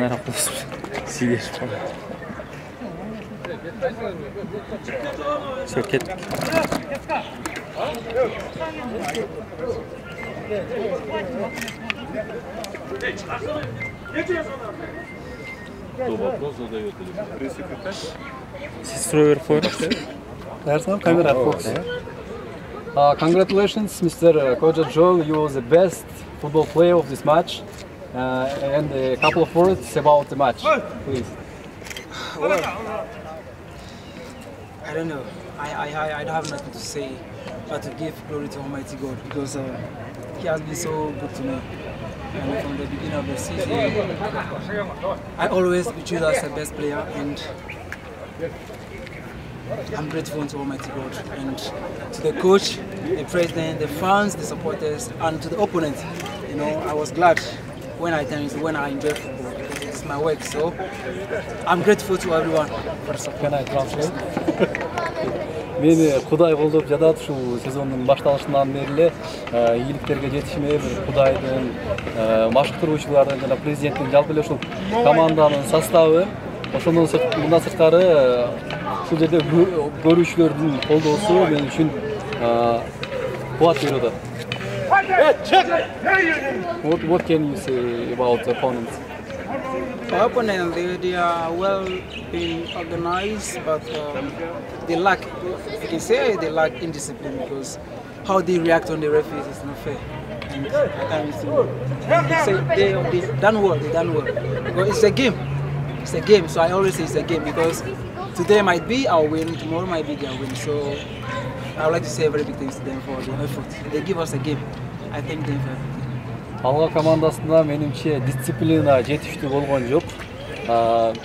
камера кылып сийлешип калды. Все, кеттик. Кто вопрос задает или пресс-секретарь? Сиз суроо берип коюңузчу. Darsan, camera focus. Congratulations, Mr. Koja Joel. You were the best football player of this match. And a couple of words about the match, please. Well, I don't know. I don't have nothing to say but to give glory to Almighty God because He has been so good to me. And from the beginning of the season, I always choose as the best player, and I'm grateful to Almighty God and to the coach, the president, the fans, the supporters, and to the opponent. You know, I was glad when I enjoy football. It's my work, so I'm grateful to everyone for the support. Can I translate? Meni Кудай колдоп жатат ушул сезондун башталышынан бери эле ийгиликтерге жетишиме бир Кудайдын, машыктыруучулардын жана президенттин жалпы эле ушул команданын составы, ошондон мындан сырткары ушул жерде көрүүчүлөрдүн колдоосу мен үчүн кубат берип атат. What can you say about the opponents? Our opponents, they are well being organized, but they lack, you can say they lack indiscipline because how they react on the referees is not fair. And at times they done well, Because it's a game, so I always say it's a game because today might be our win, tomorrow might be their win. So I would like to say very big thanks to them for the effort. They give us a game. I thank them for everything. Алга командасында менимче дисциплина жетиштүү болгон жок.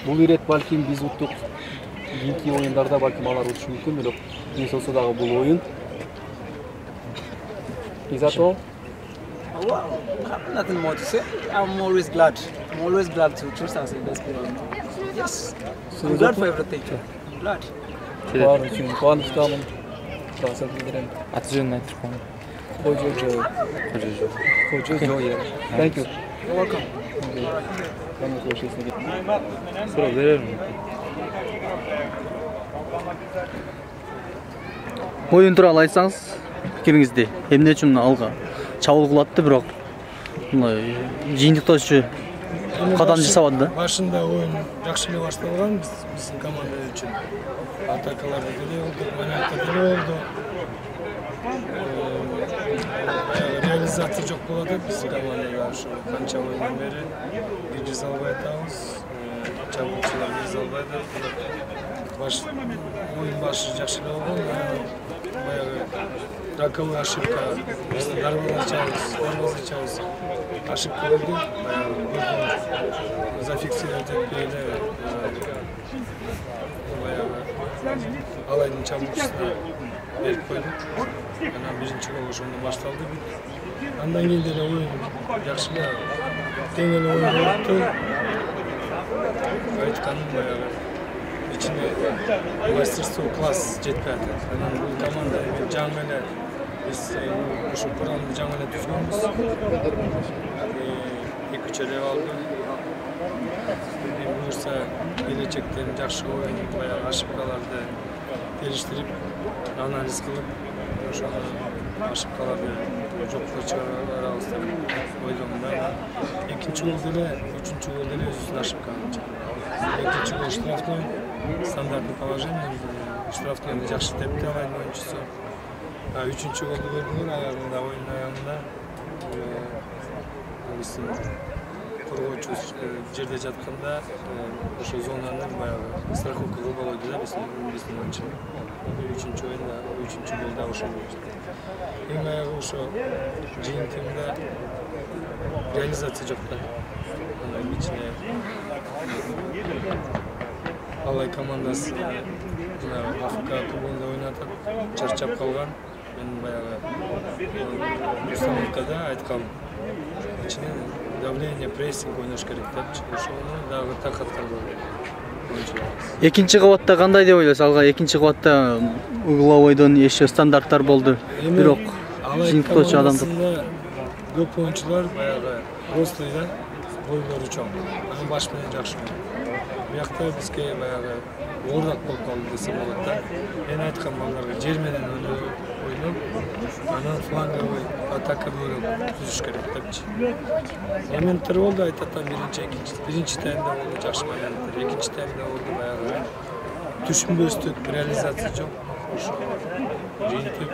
Бул ирет балким биз уттук. Кийинки оюндарда балким алар утушу мүмкүн, бирок биз болсо дагы бул оюн. Is that all? Well, I have nothing more to say. I'm always glad. I'm always glad to choose as the best player. Yes. I'm glad for everything. I'm glad. Баары үчүн кубанычтамын. Таасир билдирем. Аты жөнүн айтып коюң. Koja Joel. Thank you. You're welcome. Суроо берермин. Оюн тууралуу айтсаңыз, пикириңизди. Эмне үчүн алга чабуул кылатты, бирок мындай жыйынтыктоочу кадам жасабады да? Башында оюн жакшы эле башталган биздин команда үчүн. Атакаларды деле болду, моментте деле болду. Реализация жок болот биздин командада ошо канча оюндан бери киргизе албай атабыз. Чабуулчулар киргизе албай атат. Оюн башы жакшы эле болгон. Баягы раковый ошибка. Биз дарбазачабыз. Ошибка болду. Баягы зафиксировать этпей эле. Баягы алайдын чабуулчусуна берип койдук. Анан биринчи гол ошондон башталды. Андан кийин деле оюн жакшы эле тең эле оюн болупту. Айтканым баягы ичине мастерство класс жетпей атат. Анан бул команда жаңы эле биз ушул курамды жаңы эле түзгөнбүз. 2-3 алды. Буюрса келечекте жакшы оюн, баягы ошибкаларды териштирип, анализ кылып, ошону ошибкаларды жокко чыгарабыз деп ойлойм да. Экинчи гол деле, үчүнчү гол деле өзүнүн ошибканы. Экинчи гол штрафной, стандартный положение, штрафнойду жакшы тепти алайдын оюнчусу. Үчүнчү голду көрдүңөр, аягында, оюндун аягында биздин коргоочу жерде жатканда ошо зонаны баягы страховка кылып алды да биздин оюнчу. Үчүнчү оюнда, үчүнчү голда ошо болду. Эң аягы ошо жыйынтыгында реализация жок да. Анын ичине Алай командасы АФК клубунда ойнатып, чарчап калган. Мен баягы установкада айткам. Ичине давление, прессинг ойнош керек депчи. Ошону дагы так аткарбады. Экинчи кабатта кандай деп ойлойсуз? Алга экинчи кабатта угловойдон еще стандарттар болду. Бирок жыйынтыктоочу адамдар көп оюнчулар баягы рослый да, бойлору чоң. Анын баш менен жакшы ойнойт. Биякта бизге баягы оорураак болуп калды десе болот да. Мен айткан балдарга жер менен ойноп, анан фланговый атакаларды түзүш керек депчи. Моменттер болду, айтатам, биринчи таймда болду жакшы моменттер, экинчи таймда болду баягы түшүнбөстүк, реализация жок. Ошо жыйынтык